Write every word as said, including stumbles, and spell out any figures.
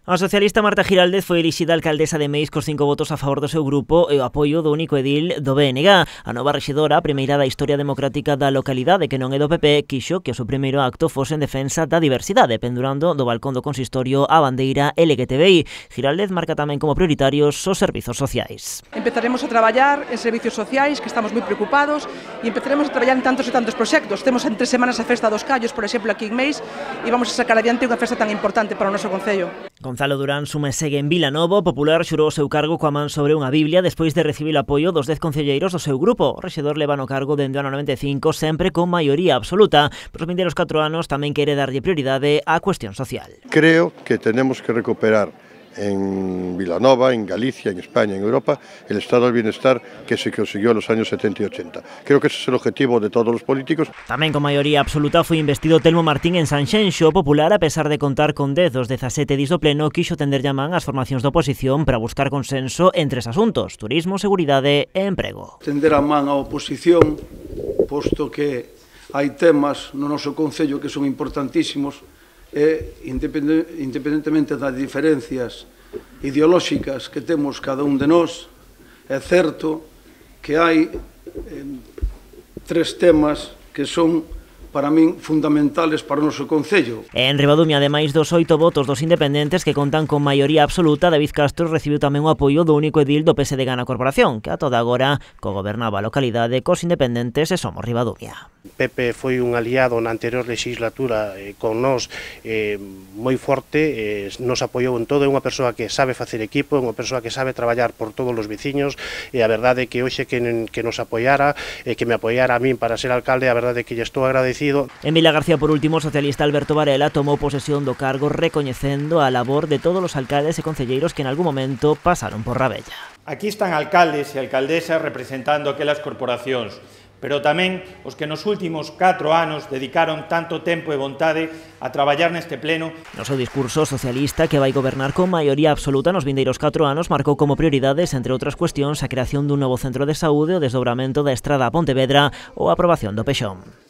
A socialista Marta Giraldez foi elixida alcaldesa de Meis cos cinco votos a favor do seu grupo e o apoio do único edil do B N G. A nova rexedora, a primeira da historia democrática da localidade que non é do P P, quixo que o seu primeiro acto fose en defensa da diversidade, pendurando do balcón do consistorio a bandeira L G T B I. Giraldez marca tamén como prioritarios os servizos sociais. Empezaremos a traballar en servicios sociais, que estamos moi preocupados, e empezaremos a traballar en tantos e tantos proxectos. Temos en tres semanas a Festa dos Callos, por exemplo, aquí en Meis, e vamos a sacar adiante unha festa tan importante para o noso concello. Gonzalo Durán Sume segue en Vilanovo. O Popular xurou o seu cargo coa man sobre unha Biblia despois de recibir o apoio dos dez concelleiros do seu grupo. O rexedor leva no cargo dende o ano noventa e cinco, sempre con maioría absoluta. Por os vindeiros catro anos tamén quere darlle prioridade á cuestión social. Creo que tenemos que recuperar en Vilanova, en Galicia, en España, en Europa, el estado del bienestar que se consiguió en los años setenta y ochenta. Creo que ese es el objetivo de todos los políticos. Tamén con maioría absoluta foi investido Telmo Martín en Sanxenxo. O Popular, a pesar de contar con dez dos dezasete dis do pleno, quixo tender llamán ás formacións da oposición para buscar consenso en tres asuntos: turismo, seguridade e emprego. Tender a man á oposición, posto que hai temas no noso concello que son importantísimos, e independentemente das diferencias ideolóxicas que temos cada un de nós, é certo que hai eh, tres temas que son para min fundamentales para o noso concello. En Ribadumia, ademais dos oito votos dos independentes que contan con maioría absoluta, David Castro recibiu tamén o apoio do único edil do P S D G na corporación, que a toda agora cogobernaba a localidade cos independentes e Somos Ribadumia. Pepe foi un aliado na anterior legislatura eh, con nós eh, moi forte, eh, nos apoiou en todo, é unha persoa que sabe facer equipo, é unha persoa que sabe traballar por todos os veciños, e a verdade é que hoxe que, que nos apoiara, eh, que me apoiara a min para ser alcalde, a verdade é que lle estou agradecido. En Vilagarcía, por último, o socialista Alberto Varela tomou posesión do cargo recoñecendo a labor de todos os alcaldes e concelleiros que en algún momento pasaron por Rabella. Aquí están alcaldes e alcaldesas representando aquelas corporacións, pero tamén os que nos últimos catro anos dedicaron tanto tempo e vontade a traballar neste pleno. No seu discurso, socialista, que vai gobernar con maioría absoluta nos vindeiros catro anos, marcou como prioridades, entre outras cuestións, a creación dun novo centro de saúde, o desdobramento da estrada a Pontevedra ou a aprobación do Pexón.